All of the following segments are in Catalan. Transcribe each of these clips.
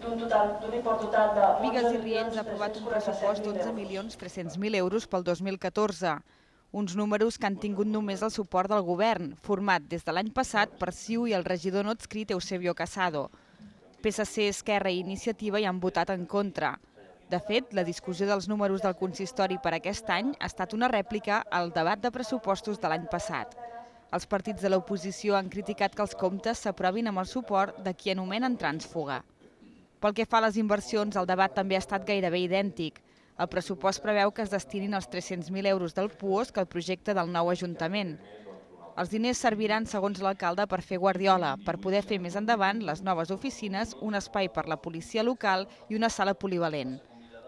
d'un import total de Bigues i Riells ha aprovat un pressupost d'11.300.000 euros pel 2014, uns números que han tingut només el suport del govern, format des de l'any passat per CiU i el regidor no adscrit Eusebio Casado. PSC, Esquerra i Iniciativa hi han votat en contra. De fet, la discussió dels números del consistori per aquest any ha estat una rèplica al debat de pressupostos de l'any passat. Els partits de l'oposició han criticat que els comptes s'aprovin amb el suport de qui anomenen trànsfuga. Pel que fa a les inversions, el debat també ha estat gairebé idèntic. El pressupost preveu que es destinin els 300.000 euros del PUOSC al projecte del nou Ajuntament. Els diners serviran, segons l'alcalde, per fer guardiola, per poder fer més endavant les noves oficines, un espai per la policia local i una sala polivalent.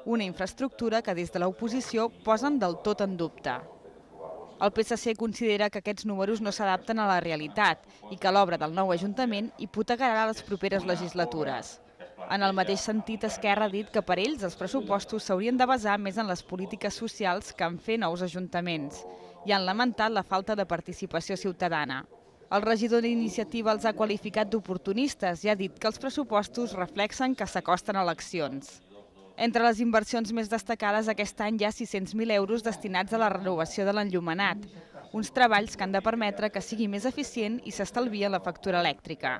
Una infraestructura que des de l'oposició posen del tot en dubte. El PSC considera que aquests números no s'adapten a la realitat i que l'obra del nou Ajuntament hipotecarà les properes legislatures. En el mateix sentit, Esquerra ha dit que per ells els pressupostos s'haurien de basar més en les polítiques socials que en fer nous ajuntaments i han lamentat la falta de participació ciutadana. El regidor d'Iniciativa els ha qualificat d'oportunistes i ha dit que els pressupostos reflexen que s'acosten eleccions. Entre les inversions més destacades aquest any hi ha 600.000 euros destinats a la renovació de l'enllumenat, uns treballs que han de permetre que sigui més eficient i s'estalvia la factura elèctrica.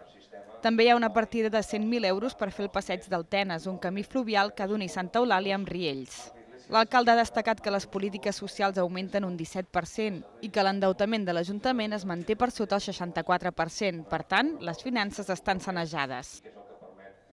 També hi ha una partida de 100.000 euros per fer el passeig del Tenes, un camí fluvial que doni Santa Eulàlia amb Riells. L'alcalde ha destacat que les polítiques socials augmenten un 17% i que l'endeutament de l'Ajuntament es manté per sota el 64%. Per tant, les finances estan sanejades.